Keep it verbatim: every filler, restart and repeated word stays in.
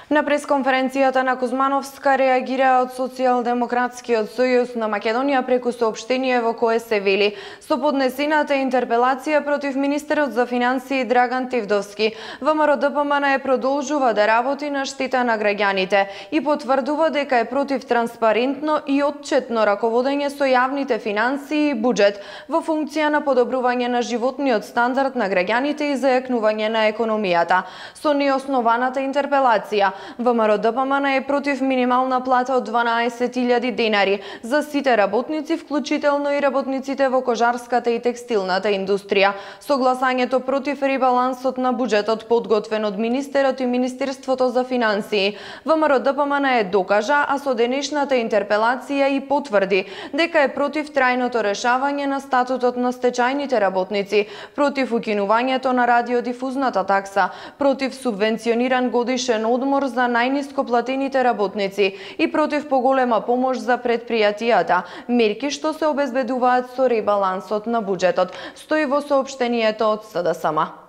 На пресконференцијата на Кузмановска реагира од Социјалдемократскиот сојуз на Македонија преку соопштение во кое се вели: со поднесената интерпелација против министерот за финансии Драган Тивдовски, ВМРО-ДПМН продолжува да работи на штета на граѓаните и потврдува дека е против транспарентно и отчетно раководење со јавните финансии и буџет во функција на подобрување на животниот стандард на граѓаните и зајакнување на економијата. Со неоснованата интерпелација ВМРО-ДПМН е против минимална плата од дванаесет илјади денари за сите работници, вклучително и работниците во кожарската и текстилната индустрија. Со гласањето против ребалансот на буџетот подготвен од министерот и Министерството за финансии, ВМРО-ДПМН е докажа, а со денешната интерпелација и потврди дека е против трајното решавање на статутот на стечајните работници, против укинувањето на радиодифузната такса, против субвенциониран годишен одмор за најниско платените работници и против поголема помош за предпријатијата, мерки што се обезбедуваат со ребалансот на буџетот, стои во соопштението од СДСМ.